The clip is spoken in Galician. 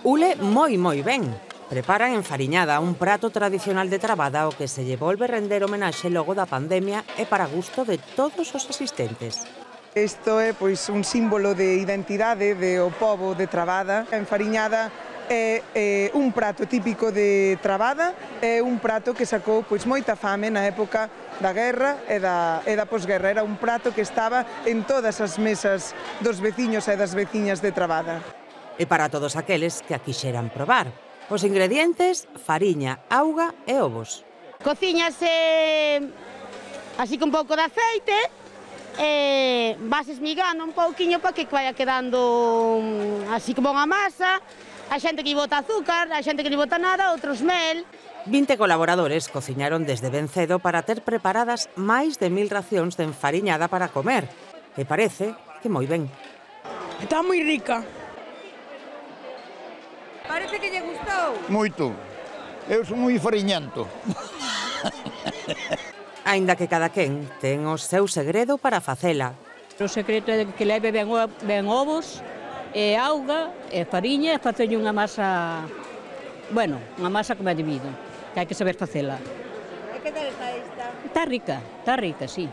Ule moi ben. Preparan enfariñada, un prato tradicional de Trabada ao que se lle volve render homenaxe logo da pandemia e para gusto de todos os asistentes. Isto é pois un símbolo de identidade do pobo de Trabada. A enfariñada é un prato típico de Trabada, é un prato que sacou pois moita fame na época da guerra e da posguerra. Era un prato que estaba en todas as mesas dos veciños e das veciñas de Trabada. E para todos aqueles que a quixeran probar. Os ingredientes, fariña, auga e ovos. Cociñase así con un pouco de aceite, vas esmigando un pouquiño para que vaya quedando así como unha masa. A xente que lle bota azúcar, a xente que lle bota nada, outros mel. 20 colaboradores cociñaron desde ben cedo para ter preparadas máis de 1000 racións de enfariñada para comer. E parece que moi ben. Está moi rica. Parece que lle gustou. Moito. Eu son moi fariñento. Aínda que cada quen ten o seu segredo para facela. O secreto é que leve ben ovos, e auga, e fariña, e facerlle unha masa, bueno, unha masa como é debido, que hai que saber facela. E que tal está esta? Está rica, sí.